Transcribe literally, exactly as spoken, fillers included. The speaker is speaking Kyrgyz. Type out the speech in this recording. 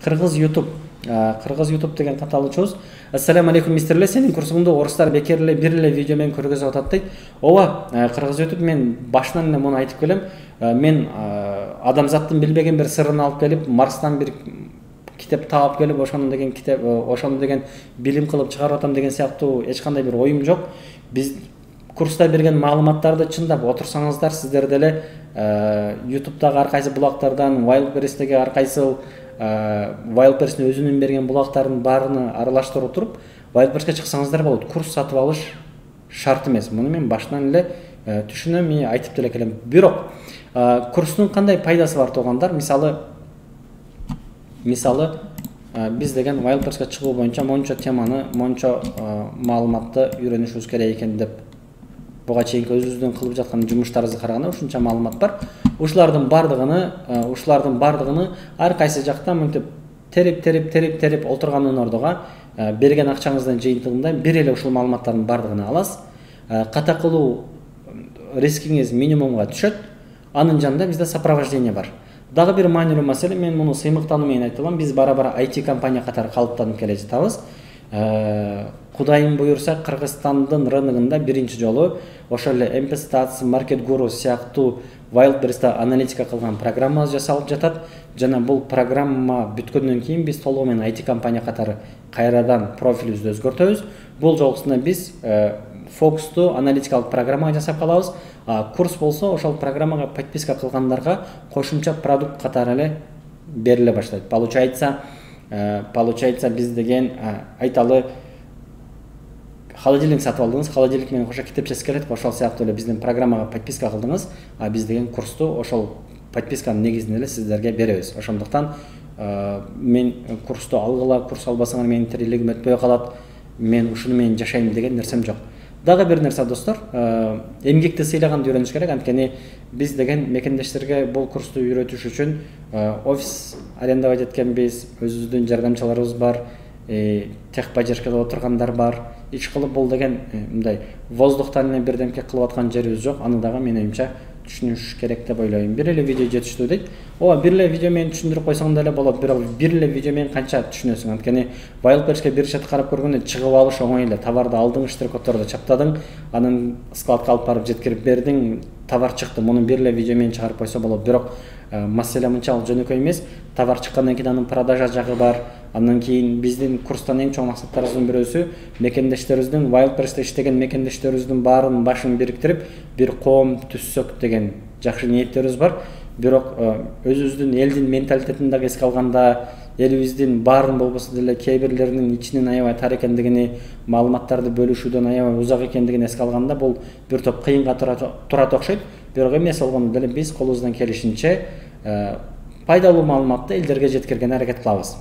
Кыргыз YouTube. Кыргыз YouTube деген каталуучубуз. Ассаламу алейкум мистерлер, сенин курсуңду орустар бекер эле бир эле видео менен көргөзүп атат дейт. Ооба, Кыргыз YouTube мен башынан эле муну айтып келем. Мен адамзаттын билбеген бир сырын алып келип, Марстан бир китеп таап келип, ошону деген китеп, ошону деген билим кылып чыгарып атам деген сыяктуу эч кандай бир оюм жок. Биз курста берген маалыматтарды чындап отурсаңыздар, сиздер деле YouTube'дагы ар кайсы булактардан, Wildberries'теги ар кайсы Wildberries'ин өзүнүн берген булактардын баарына аралаштырып туруп, Wildberries'ке чыксаңыздар болот. Курс сатып алыш шарт эмес. Муну мен башынан эле түшүнөм, мен айтып деле келем. Бирок курстун кандай пайдасы бар туугандар? Мисалы, мисалы биз деген Wildberries'ке чыгуу боюнча мончо теманы, мончо маалыматты үйрөнүшүбүз керек экен деп буга чейинки өзүбүздүн кылып жаткан жумуштарыбызды караганда ушунча маалымат бар. Ушулардын бардыгыны, ушулардын бардыгыны ар кайсы жактан мынтип терип, терип, терип, терип олтургандын ордуга берген акчаңыздын жыйынтыгында бир эле ушул маалыматтардын бардыгын аласыз. Ката кылуу рискиңиз минимумга түшөт. Анын жанында бизде сопровождение бар. Дагы бир маанилүү маселе, мен муну сыймыктануу менен айта алам. Биз бара-бара ай ти компания катары калыптанып келе жатабыз. Кудайым буюрса, Кыргызстандын рыногунда биринчи жолу ошол эле эм пи Stats, Market Guru сыяктуу Wildberries'те аналитика кылган программа жасалып жатат. Жана бул программа бүткөндөн кийин биз толугу менен ай ти компания катары кайрадан профилибизди өзгөртөбүз. Бул жолусунда биз фокусту аналитикалык программа жасап калабыз. Курс болсо ошол программага подписка кылгандарга кошумча продукт катары эле бериле баштайт. Получается, получается биз деген айталы холодильник сатып алдыңыз, холодильник менен кошо китепчеси келет, ошол сыяктуу эле биздин программага подписка кылдыңыз, а биз деген курсту ошол подписканын негизинде эле сиздерге беребиз. Ошондуктан мен курсту алгыла, курс албасаңар менин тирилигим өтпөй калат, мен ушуну менен жашайм деген нерсем жок. Дагы бир нерсе достор, эмгекти сыйлаганды үйрөнүш керек. Анткени биз деген мекендештерге бул курсту үйрөтүш үчүн офис арендовать эткенбиз, өзүбүздүн жардамчыларыбыз бар, техподдержкада отургандар бар. Ич кылып бул деген мындай воздухтан эле бирдемке кылып аткан жерибиз жок. Аны дагы менин оюмча түшүнүш керек деп ойлойм. Бир эле видео жетиштүү дейт. Ооба, бир эле видео менен түшүндүрүп койсоң деле болот, бирок бир эле видео менен канча түшүнөсүң? Анткени Wildberries'ке бир чет карап көргөндө чыгып алыш оңой эле. Товарды алдың, штрих-коддорду чаптадың, анын складка алып барып жеткирип бердиң, товар чыкты. Муну бир эле видео менен чыгарып койсо болот. Бирок маселе мынчалык жөнөкөй эмес. Товар чыккандан кийин анын продажа жагы бар. Андан кийин биздин курстан эң чоң максаттарыбыздын бирөөсү мекендештерибиздин, Wildberries'те иштеген мекендештерибиздин баарынын башын бириктирип, бир коом түзсөк деген жакшы ниеттерибиз бар. Бирок өзүбүздүн элдин менталитетин дагы эске алганда, элибиздин баарын болбосо деле кээ бирлеринин ичинин аябай тар экендигини, маалыматтарды бөлүшүүдөн аябай узак экендигин эске алганда, бул бир топ кыйынга турат окшойт. Бирок эмес болгондо деле биз колубуздан келишинче пайдалуу маалыматты элдерге жеткиргенге аракет кылабыз.